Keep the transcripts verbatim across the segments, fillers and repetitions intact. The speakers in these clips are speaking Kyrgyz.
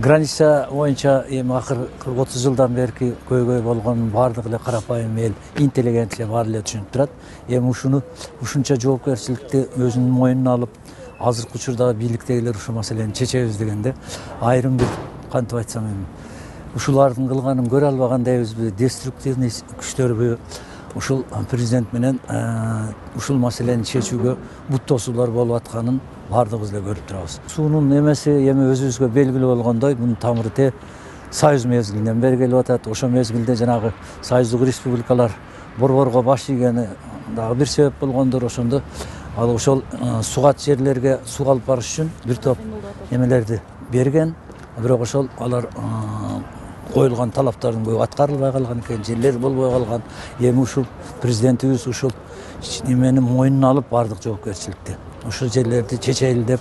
Граница боюнча эми акыркы отуз жылдан берки көйгөй болгон баардык эле карапайым эл, интеллигенция баары эле түшүнүп турат. Эми ушуну ушунча жоопкерчиликти өзүнүн мойнуна алып, азыркы учурдагы бийликтегилер ушул маселени чечебиз дегенде, айрым бир кантип айтсам эми ушулардын кылганын көрө албаган дейбизби, деструктивный күчтөрбү, ушул президент менен ушул маселени чечүүгө бут тосуулар болуп атканын баардыгыбыз эле көрүп турабыз. Суунун эмеси эми өзүбүзгө белгилүү болгондой, мунун тамыры те Союз мезгилинен бери келип атат. Ошол мезгилде жанагы союздук республикалар борборго баш ийгени дагы бир себеп болгондор. Ошондо ал ошол сугат жерлерге суу алып барыш үчүн бир топ эмелерди берген. Бирок ошол алар коюлган талаптардын көбү аткарылбай калган экен, жерлер болбой калган. Эми ушул президентибиз ушул эмени мойнуна алып баардык жоопкерчиликти ошол жерлерди чечели деп,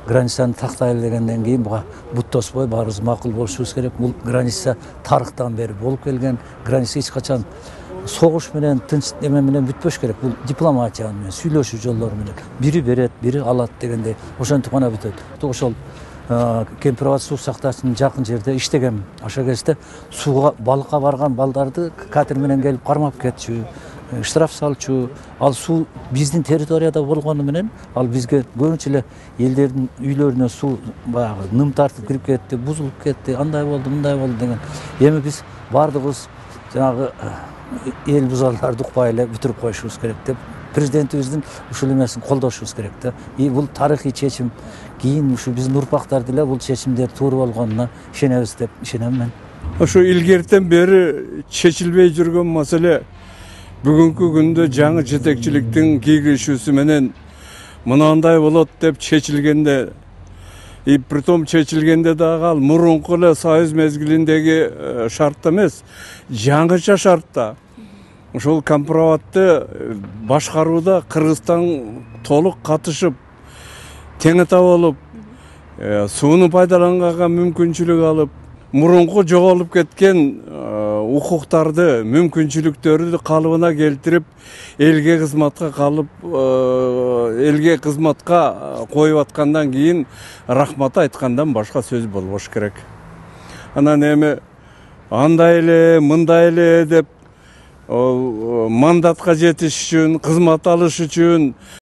границаны тактайлы дегенден кийин буга бут тоспой баарыбыз макул болушубуз керек. Бул граница тарыхтан бери болуп келген. Граница эч качан согуш менен, тынч эме менен бүтпөш керек. Бул дипломатия менен, сүйлөшүү жолдору менен. Бири берет, бири алат дегендей. Ошентип гана бүтөт. Ошол Кемпир-Абад суу сакташынын жакын жерде иштеген. Ошол кезде сууга балыкка барган балдарды катер менен келип кармап кетчү, штраф салчу. Ал суу биздин территорияда болгону менен ал бизге көбүнчө эле элдердин үйлөрүнө суу баягы ным тартып кирип кетти, бузулуп кетти, андай болду, мындай болду деген. Эми биз баардыгыбыз жанагы эл бузарларды укпай эле бүтүрүп коюшубуз керек деп, президентибиздин ушул эмесин колдошубуз керек да. И бул тарыхый чечим. Кийин ушу биздин урпактар деле бул чечимдер туура болгонуна ишенебиз деп ишенем мен. Ошо илгертен бери чечилбей жүргөн маселе бүгүнкү күндө жаңы жетекчиликтин кийлешүүсү менен мынандай болот деп чечилгенде, и притом чечилгенде дагы ал мурунку эле Союз мезгилиндеги шартта эмес, жаңыча шартта. Ошол Кемпир-Абадты башкарууда Кыргызстан толук катышып, теңете болуп, сууну пайдаланганга мүмкүнчүлүк алып, мурунку жоголуп кеткен укуктарды, мүмкүнчүлүктөрдү калыбына келтирип, элге кызматка калып, элге кызматка коюп аткандан кийин рахмат айткандан башка сөз болбош керек. Анан эми андай эле, мындай эле деп мандатка жетиш үчүн, кызмат алыш үчүн